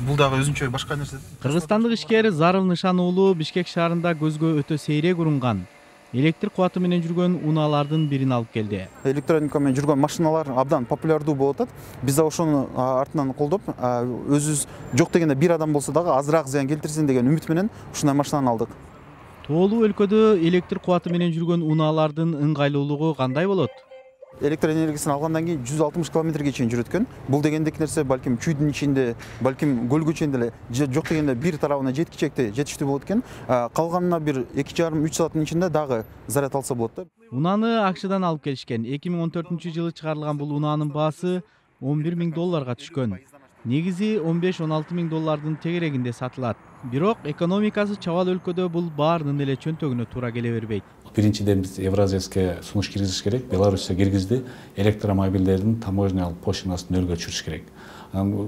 Бул дагы өзүнчө башка нерсе. Кыргызстандык ишкер Зарыл Нышан уулу Бишкек шаарында көзгө өтө сейрек урунган электр кубаты менен жүргөн унаалардын бирин алып келди. Электроника менен жүргөн машиналар абдан популярдуу болуп атат. Биз да ошону артынан колдоп, өзүбүз жок дегенде бир адам болсо дагы азыраак зыян келтирсин деген үмүт менен ушундай машинаны алдык. Тоолуу өлкөдө электр кубаты менен жүргөн унаалардын ыңгайлуулугу кандай болот? Электр энергиясын алгандан кийин 160 километрге чейин жүрөт экен. Бул дегендик нерсе балким чүйдүн ичинде, балким көлгө чейин деле жок дегенде бир тарабына жетиштүү болот экен. Калганына бир 2,5-3 сааттын ичинде дагы заряд алса болот да. Унаны АКШдан алып келишкен. 2014-жылы чыгарылган бул унаанын баасы $11,000 түшкөн. Негизи $15-16,000 тегерегинде сатылат. Бирок экономикасы чабал өлкөдө бул баарынын эле чөнтөгүнө туура келе бербейт. Биринчиден биз Евразияске сунуш киргизиш керек. Беларусия киргизди. Электромобилдердин таможнялык пошлинасын нөлгө түшүрүш керек.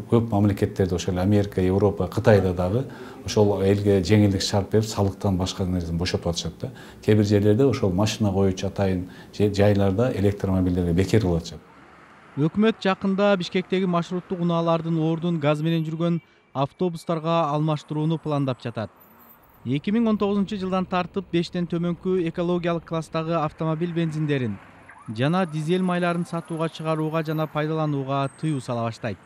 Көп мамлекеттерде ошол Америка, Европа, Кытайда дагы ошол элге жеңилдик шарт берип, салыктан башка нерседен бошотуп атышат да. Кээ бир жерлерде ошол машина коюучу атайын жайларда электромобилдерге бекер кылып атышат. Өкмөт жакында Бишкектеги маршруттук унаалардын ордун газ менен жүргөн автобустарга алмаштырууну пландап жатат. 2019-жылдан тартып 5тен төмөнкү экологиялык класстагы автомобиль бензиндерин жана дизель майларын сатууга чыгарууга жана пайдаланууга тыюу сала баштайт.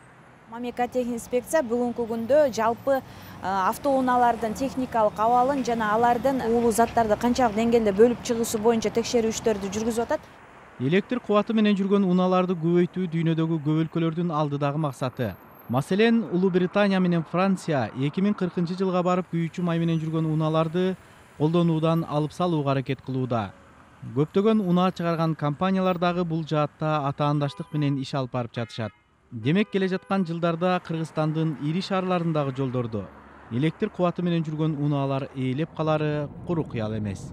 Мамлекеттик инспекция бүгүнкү күндө жалпы автоунаалардын техникалык абалын жана алардын уулуу заттарды канчалык деңгээлде бөлүп чыгуусу боюнча текшерүү иштерди жүргүзүп атат. Электр кубаты менен жүргөн унааларды көбөйтүү дүйнөдөгү көп өлкөлөрдүн алдыдагы максаты. Маселен, Улуу Британия менен Франция 2040-жылга барып күйүүчү май менен жүргөн унааларды колдонуудан алып салууга аракет кылууда. Көптөгөн унаа чыгарган компаниялар дагы бул жаатта атаандаштык менен иш алып барып жатышат. Демек, келе жаткан жылдарда Кыргызстандын ири шаарларындагы жолдордо электр кубаты менен жүргөн унаалар ээлеп калары куру кыял эмес.